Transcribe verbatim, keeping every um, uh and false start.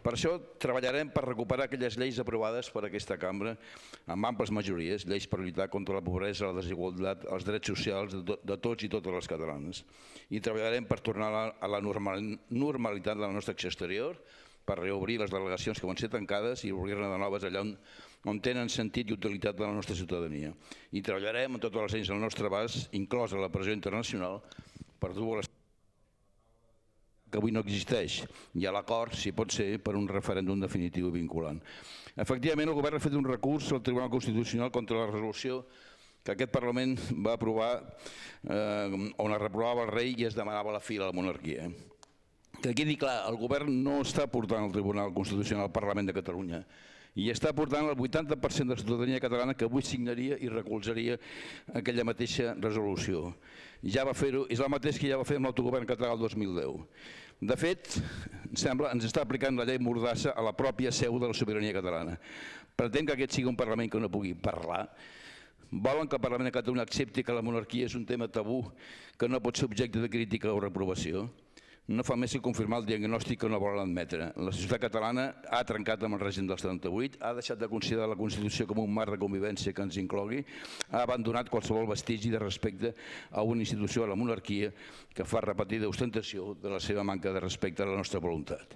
Per això treballarem per recuperar aquelles lleis aprovades per aquesta cambra amb amples majories, lleis per lluitar contra la pobresa, la desigualtat, els drets socials de tots i totes les catalanes. I treballarem per tornar a la normalitat de la nostra acció exterior, per reobrir les delegacions que van ser tancades i obrir-ne de noves allà on tenen sentit i utilitat de la nostra ciutadania. I treballarem amb totes les eines al nostre abast, inclosa la pressió internacional, per dur a les que avui no existeix, i a l'acord, si pot ser, per un referèndum definitiu i vinculant. Efectivament, el govern ha fet un recurs al Tribunal Constitucional contra la resolució que aquest Parlament va aprovar on es reprovava el rei i es demanava la fi de la monarquia. Que quedi clar, el govern no està portant al Tribunal Constitucional al Parlament de Catalunya i està portant el vuitanta per cent de la ciutadania catalana que avui signaria i recolzaria aquella mateixa resolució. Ja va fer-ho, és el mateix que ja va fer amb l'autogovern català el dos mil deu. De fet, sembla, ens està aplicant la llei Mordassa a la pròpia seu de la sobirania catalana. Pretén que aquest sigui un Parlament que no pugui parlar. Volen que el Parlament de Catalunya accepti que la monarquia és un tema tabú que no pot ser objecte de crítica o reprovació. No fa més que confirmar el diagnòstic que no volen admetre. La societat catalana ha trencat amb el règim del setanta-vuit, ha deixat de considerar la Constitució com un marc de convivència que ens inclogui, ha abandonat qualsevol vestigi de respecte a una institució, a la monarquia, que fa repetida ostentació de la seva manca de respecte a la nostra voluntat.